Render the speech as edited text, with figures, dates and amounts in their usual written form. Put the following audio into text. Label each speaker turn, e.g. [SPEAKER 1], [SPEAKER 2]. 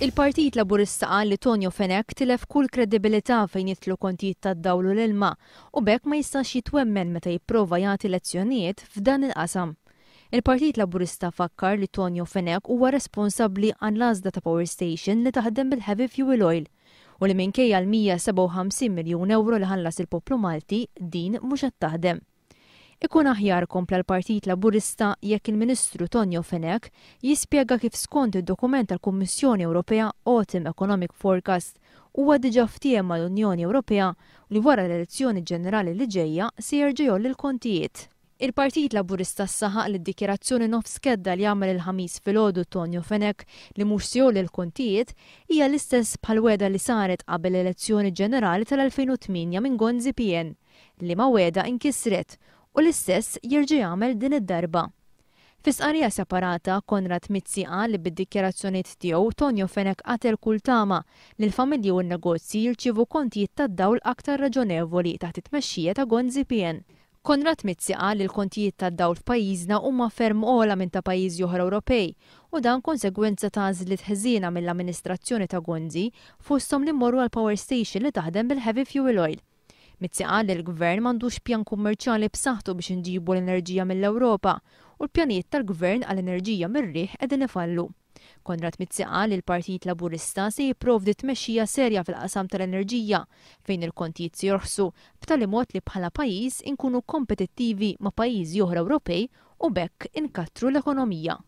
[SPEAKER 1] Il-Partit Laburista qal li Tonio Fenech tilef kull kredibilità fejn jidħlu kontijiet tad-dawl u l-ilma u b'hekk ma jistax jitwemmen meta jipprova jagħti lezzjonijiet f'dan il-qasam. Il-Partit Laburista fakkar li Tonio Fenech huwa responsabbli għall-għażla ta' power station li taħdem bil-heavy fuel oil u li minkejja l-157 miljun ewro li ħallas il-poplu Malti din mhux qed taħdem. Ikun aħjar, kompla l-Partit Laburista, jekk il-Ministru Tonio Fenech jispjega kif skont id-dokument tal-Kummissjoni Ewropea Autumn Economic Forecast huwa diġà ftiehem mal-Unjoni Ewropea li wara l-elezzjoni ġenerali li ġejja se jerġa' jgħolli l-kontijiet. Il-Partit Laburista saħaq li d-dikjarazzjoni nofs kedda li għamel il-Ħamis filgħodu Tonio Fenech li mhux se jgħolli l-kontijiet hija l-istess bħall-wegħda li saret qabel l-elezzjoni ġenerali tal-2008 minn Gonzi PN. liema wegħda inkisret u l-istess jerġa' jagħmel din id-darba. Fi stqarrija separata, Konrad Mizzi qal li bid-dikjarazzjonijiet tiegħu Tonio Fenech qatel kull tama li l-familji u n-negozji jirċievu kontijiet tad-dawl aktar raġonevoli taħt it-tmexxija ta' Gonzi PN. Konrad Mizzi qal li l-kontijiet tad-dawl f'pajjiżna huma ferm ogħla minn ta' pajjiżi oħra Ewropej u dan konsegwenza ta' għażliet ħżiena mill-amministrazzjoni ta' Gonzi fosthom li mmorru għal power station li taħdem bil-heavy fuel oil. Mizzi qal li l-Gvern m'għandux pjan kummerċjali b'saħħtu biex inġibu l-enerġija mill-Ewropa u l-pjanijiet tal-Gvern għal enerġija mir-riħ qegħdin ifallu. Konrad Mizzi qal li l-Partit Laburista se jipprovdi tmexxija serja fil-qasam tal-enerġija fejn il-kontijiet se jorħsu b'tali mod li bħala pajjiż inkunu kompetittivi ma' pajjiżi oħra Ewropej u b'hekk inkattru l-ekonomija.